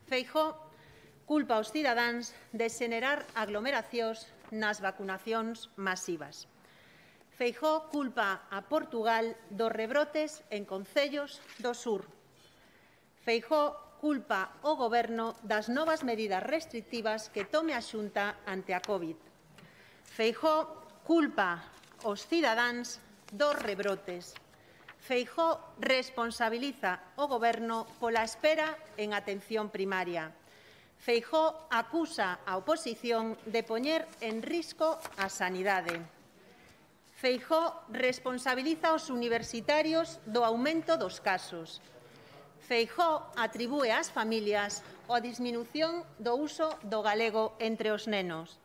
Feijóo culpa aos cidadáns de xenerar aglomeracións nas vacunacións masivas. Feijóo culpa a Portugal dos rebrotes en concellos do sur. Feijóo culpa o Goberno das novas medidas restrictivas que tome a Xunta ante a COVID. Feijóo culpa os cidadáns dos rebrotes. Feijóo responsabiliza o Goberno pola espera en atención primaria. Feijóo acusa a oposición de poñer en risco a sanidade. Feijóo responsabiliza aos universitarios do aumento dos casos. Feijóo atribúe ás familias a disminución do uso do galego entre os nenos.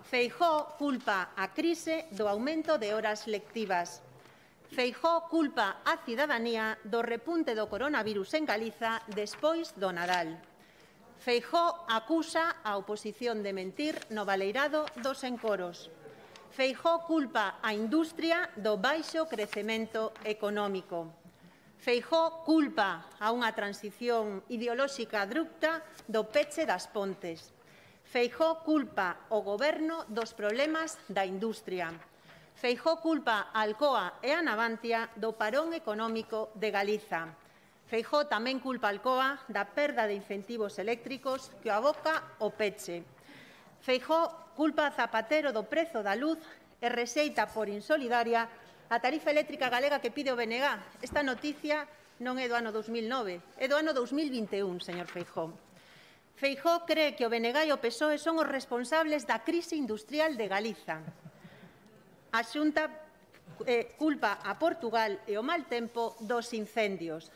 Feijóo culpa a crise do aumento de horas lectivas. Feijóo culpa a cidadanía do repunte do coronavirus en Galiza despois do Nadal. Feijóo acusa a oposición de mentir no baleirado dos encoros. Feijóo culpa a industria do baixo crecemento económico. Feijóo culpa a unha transición ideolóxica abrupta do peche das Pontes. Feijóo culpa o Goberno dos problemas da industria. Feijóo culpa a Alcoa e a Navantia do parón económico de Galiza. Feijóo tamén culpa a Alcoa da perda de incentivos eléctricos que o aboca o peche. Feijóo culpa a Zapatero do prezo da luz e rexeita por insolidaria a tarifa eléctrica galega que pide o BNG. Esta noticia non é do ano 2009, é do ano 2021, señor Feijóo. Feijóo cree que o BNG e o PSOE son os responsables da crise industrial de Galiza. A Xunta culpa a Portugal e o mal tempo dos incendios.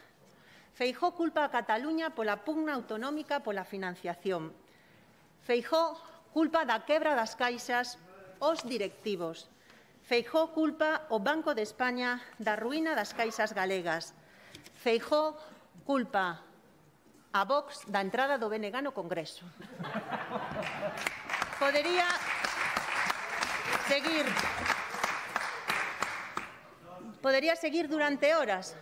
Feijóo culpa a Cataluña pola pugna autonómica pola financiación. Feijóo culpa da quebra das caixas aos directivos. Feijóo culpa o Banco de España da ruína das caixas galegas. Feijóo culpa a Vox da entrada do BNG no Congreso. Podería seguir durante horas.